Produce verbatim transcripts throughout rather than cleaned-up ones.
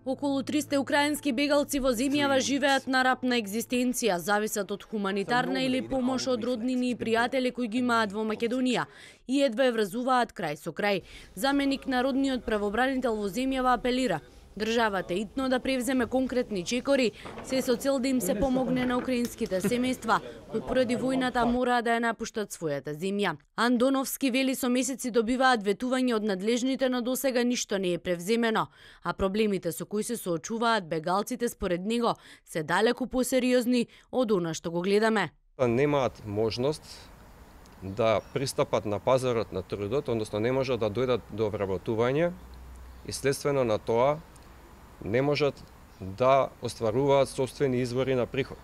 Околу триста украински бегалци во земјава живеат на рап на екзистенција, зависат од хуманитарна или помош од роднини и пријатели кои ги имаат во Македонија и едва ја врзуваат крај со крај. Заменик народниот правобранител во земјава апелира државата итно да превземе конкретни чекори, се со цел да им се помогне на украинските семејства, кои поради војната мораат да ја напуштат својата земја. Андоновски вели со месеци добиваат ветување од надлежните, но досега ништо не е превземено, а проблемите со кои се соочуваат бегалците според него се далеку посериозни од она што го гледаме. Немаат можност да пристапат на пазарот на трудот, односно не можат да дојдат до вработување и следствено на тоа не можат да остваруваат собствени извори на приход.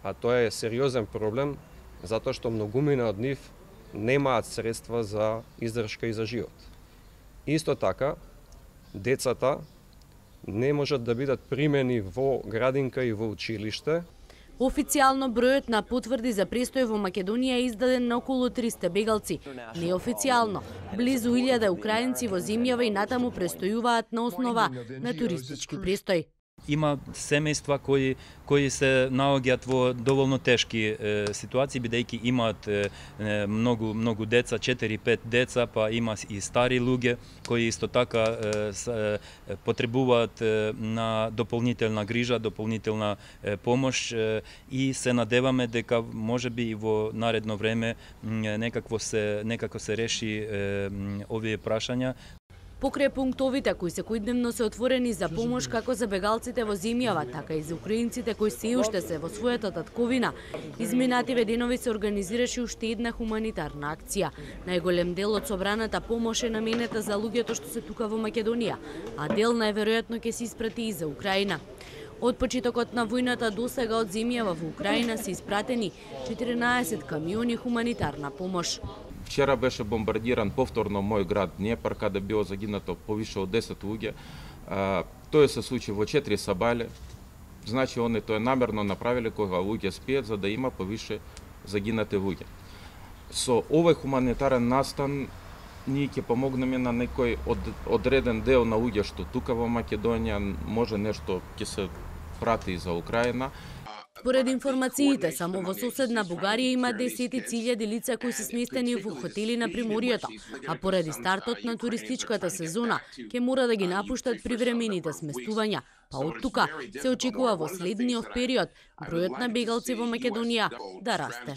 А тоа е сериозен проблем, затоа што многумина од нив немаат средства за издршка и за живот. Исто така, децата не можат да бидат примени во градинка и во училиште. Официјално бројот на потврди за престој во Македонија е издаден на околу триста бегалци. Неофицијално, близу илјада украинци во земјава и натаму престојуваат на основа на туристички престој. Има семејства кои кои се наоѓаат во доволно тешки е, ситуации, бидејќи имаат е, многу многу деца, четири-пет деца, па има и стари луѓе кои исто така е, с, е, потребуваат е, на дополнителна грижа, дополнителна е, помош е, и се надеваме дека можеби и во наредно време некако се некако се реши е, овие прашања. Покрај пунктовите кои секојдневно се отворени за помош како за бегалците во земјава, така и за украинците кои се уште се во својата татковина, изминативе денови се организираше уште една хуманитарна акција. Најголем дел од собраната помош е наменета за луѓето што се тука во Македонија, а дел најверојатно ќе се испрати и за Украина. Од почетокот на војната досега од земјава во Украина се испратени четиринаесет камиони хуманитарна помош. Вчера беше бомбардиран повторно мој град Днепар, каде било загинато повише од десет луѓе. Тоа се случи во четири сабале. Значи, они тоа намерно направиле кога луѓе спијат, за да има повише загинати луѓе. Со овој хуманитарен настан ние ќе помогнеме на некој од, одреден дел на луѓе што тука во Македонија, може нешто ќе се прати и за Украина. Според информациите, само во соседна Бугарија има десетици илјади лица кои се сместени во хотели на приморието, а поради стартот на туристичката сезона ќе мора да ги напуштат привремените сместувања. Па од тука се очекува во следниот период бројот на бегалци во Македонија да расте.